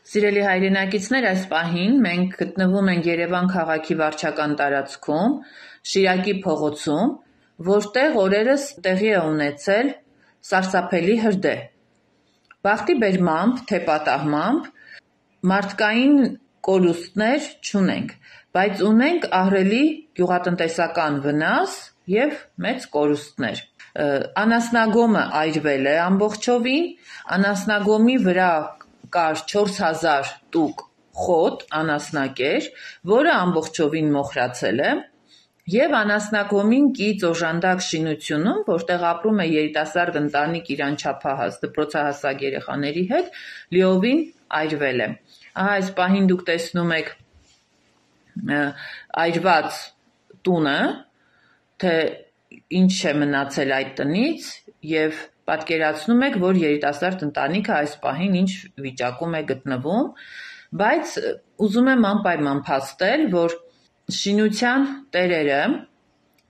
Սիրելի հայրենակիցներ, այս պահին մենք գտնվում ենք Երևան քաղաքի վարչական տարածքում, Շիրակի փողոցում, որտեղ օրերս տեղի է ունեցել սարսափելի հրդեհ։ Բախտի բերմամբ, թե պատահմամբ մարդկային կորուստներ չունենք, բայց ունենք ահռելի գյուղատնտեսական վնաս և մեծ կորուստներ։ Անասնագոմը այրվել է ամբողջովին, անասնագոմի վրա կար 4000 տուկ խոտ անասնակեր, որը ամբողջովին մոխրացել է, և անասնագոմին կից օժանդակ շինությունում, որտեղ ապրում է երիտասարդ ընտանիք իր անչափահաս դպրոցահասակ երեխաների հետ, լիովին այրվել է։ Ահա այս պահին դուք տեսնում եք այրված տունը, թե ինչ է մնացել այդ տնից և պատկերացնում եք, որ երիտասարդ ընտանիքը այս պահին ինչ վիճակում է գտնվում, բայց ուզում եմ անպայման փաստել, որ շինության տերերը,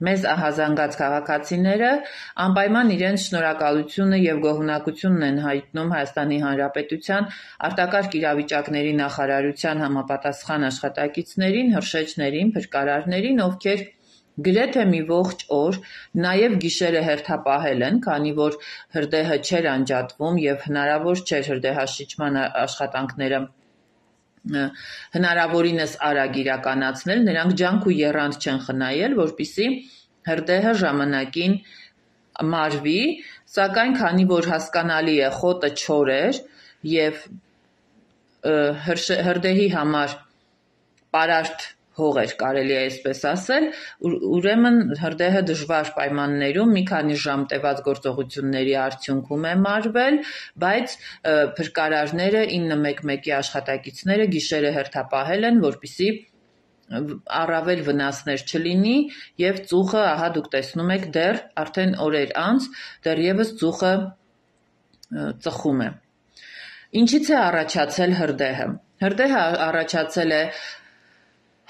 մեզ ահազանգած քաղաքացիները անպայման իրենց շնորհակալությունը և գոհունակությունն են հայտնում Հայաստանի Հանրապետության արտակարգ իրավիճակների նախարարության համապատասխան աշխատակիցներին, հրշեջներին, փրկարարներին, ովքեր գրեթե մի ողջ օր, նաև գիշերը հերթապահել են, քանի որ հրդեհը չէր անջատվում և հնարավոր չէր հրդեհաշիջման աշխատանքները հնարավորինս արագ իրականացնել, նրանք ջանք ու եռանդ չեն խնայել, որպեսզի հրդեհը ժամանակին մարվի, սակայն քանի որ հասկանալի է խոտը չոր էր և հրդեհի համար պարարտ հող էր, կարելի է այսպես ասել, ուրեմն հրդեհը դժվար պայմաններում մի քանի ժամ տևած գործողությունների արդյունքում է մարվել, բայց փրկարարները 911-ի աշխատակիցները գիշերը հերթապահել են, որպեսզի առավել վնասներ չլինի և ծուխը, ահա դուք տեսնում եք, դեռ արդեն օրեր անց դեռևս ծուխը ծխում է։ Ինչից է առաջացել հրդեհը։ Հրդեհը առաջացել է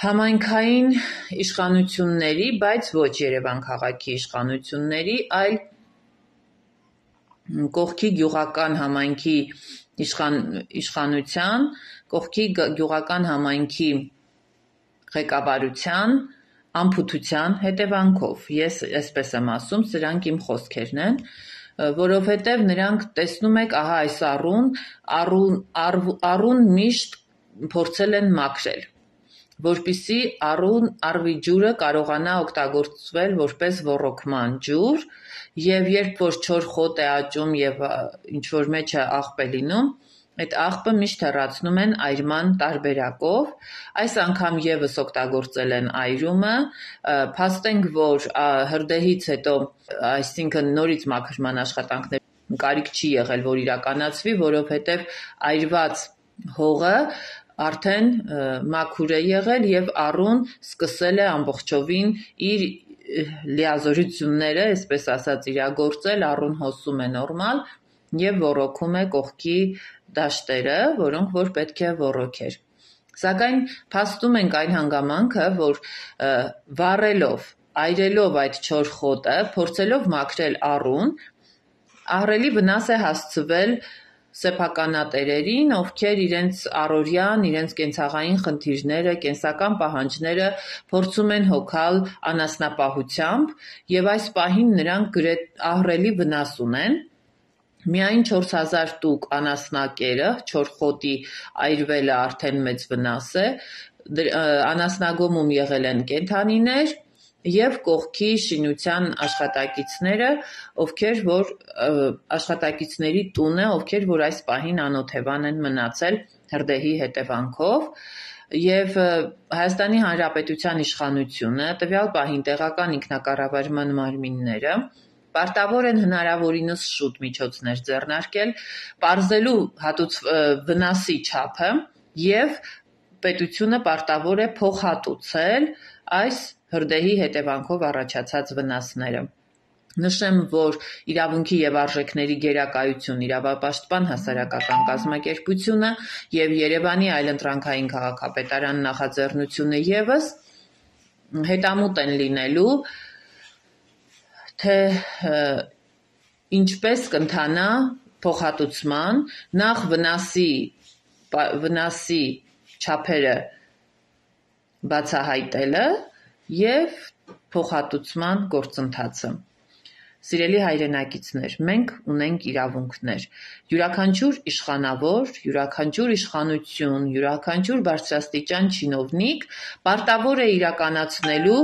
համայնքային իշխանությունների, բայց ոչ Երևան քաղաքի իշխանությունների, այլ կողքի գյուղական համայնքի իշխանության, կողքի գյուղական համայնքի ղեկավարության անփութության հետևանքով։ Ես այսպես եմ ասում, սրանք իմ խոսքերն են, որովհետև նրանք տեսնում եք, ահա այս առուն միշտ փորձել են մաքրել, որպեսզի առվի ջուրը կարողանա օգտագործվել որպես ոռոգման ջուր, և երբ որ չոր խոտ է աճում և ինչ-որ մեջը աղբ է լինում, այդ աղբը միշտ հեռացնում են այրման տարբերակով, այս անգամ ևս օգտագործել են այրումը, փաստենք, որ հրդեհից հետո, այսինքն նորից մաքրման աշխատանքներ կարիք չի եղել, որ իրականացվի, որովհետև այրված հողը արդեն մաքուր է եղել և առուն սկսել է ամբողջովին իր լիազորությունները, այսպես ասած, իրագործել, առուն հոսում է նորմալ և ոռոգում է կողքի դաշտերը, որոնք որ պետք է ոռոգեր։ Սակայն փաստում ենք այն հանգամանքը, որ վառելով, այրելով այդ չոր խոտը, փորձելով մաքրել առուն, ահռելի վնաս է հասցվել սեփականատերերին, ովքեր իրենց առօրյան, իրենց կենցաղային խնդիրները, կենսական պահանջները փորձում են հոգալ անասնապահությամբ և այս պահին նրանք ահռելի վնաս ունեն։ Միայն 4000 տուկ անասնակերը, չոր խոտի այրվելը արդեն մեծ վնաս է, անասնագոմում եղել են կենդանիներ և կողքի շինության աշխատակիցները, ովքեր որ աշխատակիցների տունը, ովքեր որ այս պահին անօթևան են մնացել հրդեհի հետևանքով, և Հայաստանի Հանրապետության իշխանությունը, տվյալ պահին տեղական ինքնակառավարման մարմինները պարտավոր են հնարավորինս շուտ միջոցներ ձեռնարկել, պարզելու վնասի չափը և պետությունը պարտավոր է փոխհատուցել այս հրդեհի հետևանքով առաջացած վնասները։ Նշեմ, որ Իրավունքի և արժեքների գերակայություն իրավապաշտպան հասարակական կազմակերպությունը և Երևանի այլընտրանքային քաղաքապետարան նախաձեռնությունը ևս հետամուտ են լինելու, թե ինչպես կընթանա փոխհատուցման, նախ վնասի վնասի չափերը բացահայտելը և փոխհատուցման գործընթացը։ Սիրելի հայրենակիցներ, մենք ունենք իրավունքներ։ Յուրաքանչյուր իշխանավոր, յուրաքանչյուր իշխանություն, յուրաքանչյուր բարձրաստիճան չինովնիկ պարտավոր է իրականացնելու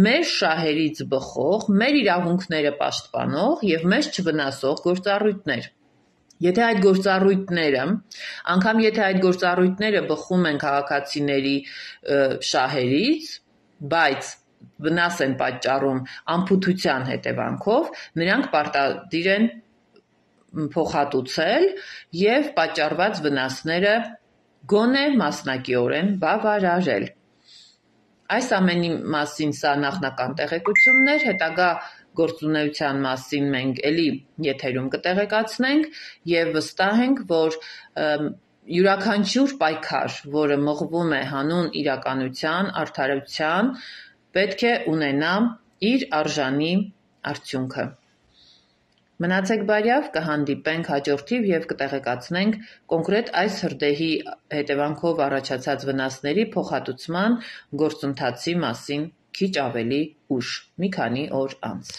մեր շահերից բխող, մեր իրավունքները պաշտպանող և մեզ չվնասող գործառույթներ։ Եթե այդ գործառույթները, անգամ եթե այդ գործառույթները բխում են քաղաքացիների շահերից, բայց վնաս են պատճառում անփութության հետևանքով, նրանք պարտադիր են փոխհատուցել և պատճառված վնասները գոնե մասնակիորեն բավարարել։ Այս ամենի մասին սա նախնական տեղեկությունն էր, հետագա գործունեության մասին մենք էլի եթերում կտեղեկացնենք և վստահ ենք, որ յուրաքանչյուր պայքար, որը մղվում է հանուն իրականության, արդարության, պետք է ունենա իր արժանի արդյունքը։ Մնացեք բարյավ, կհանդիպենք հաջորդիվ և կտեղեկացնենք կոնկրետ այս հրդեհի հետևանքով առաջացած վնասների փոխհատուցման գործընթացի մասին քիչ ավելի ուշ, մի քանի օր անց։